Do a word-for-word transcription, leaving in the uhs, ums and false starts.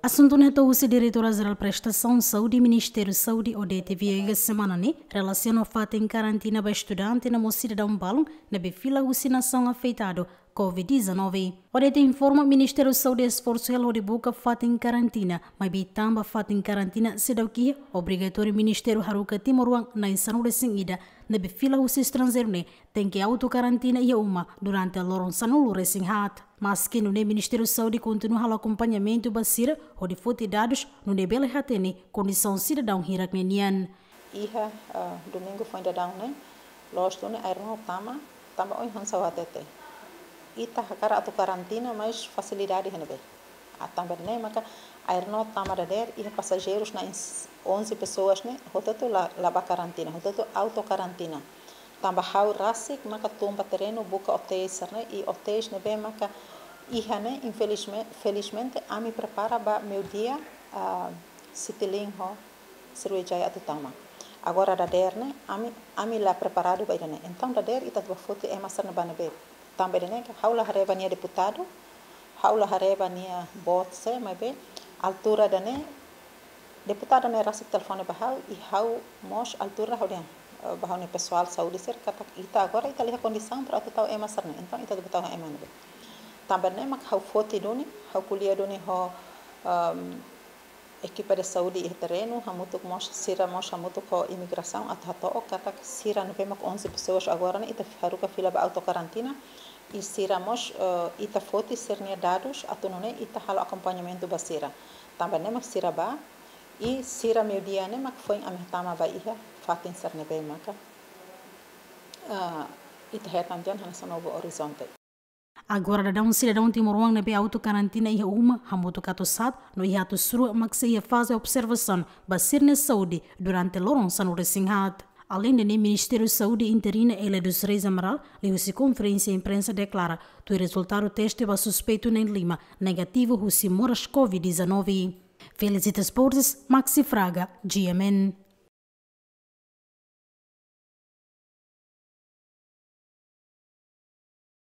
Asuntu ne'e hato'o husi Diretora Jerál Prestasaun Saúde Ministériu Saúde, Odete Viegas, semana ne'e, relasiona ho fatin karantina ba estudante no mós sidadaun balun ne'ebé fila husi nasaun afetadu Covid dezanove. Odete informa Ministériu Saúde esforsu hela hodi buka fatin karantina, maibé tanba fatin karantina seidauk iha, obrigatóriu ministériu haruka timoroan na'in sanulu-resin-ida ne'ebé fila husi estranjeiru ne'e tenke autokarantina iha uma durante loron sanulu-resin-haat. Maski nune'e, Ministériu Saúde kontinua halo akompañamentu ba sira hodi foti dadus nune'e bele hatene kondisaun sidadaun hirak ne'e nian. Iha, ah, domingu foin daudaun ne'e, loos duni air no tama, tama oin hanesan ha'u hatete. Ita hakarak atu karantina, mas fasilidade iha ne'ebé? Ah, tanba ne'e maka air no tama dadeer, iha pasajeirus na'in s-, onze pessoas ne'e, hotu-hotu la, la ba karantina, hotu-hotu autokarantina. Tanba ha'u rasik maka tun ba terrenu buka hotéis sira-ne'e, i hotéis ne'ebé maka iha ne'e, infelizme-, felizmente, ami prepara ba meiudia, ah, Citilink ho Sriwijaya atu tama. Agora dadeer ne'e, ami, ami la preparadu ba ida-ne'e. Entaun dadeer ita atu ba foti ema sira-ne'e ba ne'ebé? Tanba ida-ne'e, ha'u la haree ba nia deputadu, ha'u la haree ba nia boot sé, maibé altura ida-ne'e, deputadu ne'e rasik telefone ba ha'u, i ha'u mós altura ha'u dehan, eh, ba ha'u-nia pesoál saúde sira katak ita agora ita la iha kondisaun para atu tau ema sira-ne'e. Entaun ita atu ba tau ema ne'ebé? Tanba ne'e mak ha'u foti duni, ha'u ko'alia duni ho, ehm, ekipa de saúde iha terrenu, hamutuk mós, sira mós hamutuk ho imigrasaun atu hato'o katak sira ne'ebé mak onze pessoas agora ne'e ita haruka fila ba autokarantina, i sira mós, eh, ita foti sira-nia dadus atu nune'e ita halo akompañamentu ba sira. Tanba ne'e mak sira ba, i sira meiudia ne'e mak foin ami hatama ba iha fatin sira ne'ebé maka, ah, ita hetan tiha ona hanesan Novo Horizonte. Agora daudaun sidadaun timoroan ne'ebé autokarantina iha uma, hamutuk atus haat no iha atus rua mak sei iha faze observasaun ba sira-nia saúde durante loron sanulu-resin-haat. Aleinde ne'e, Ministériu Saúde interina Elia dos Reis Amaral, liuhusi konferénsia imprensa deklara, tuir rezultadu teste ba suspeitu na'in lima negativu husi moras Covid dezanove. Felicitas Borges, Maxi Fraga, G M N.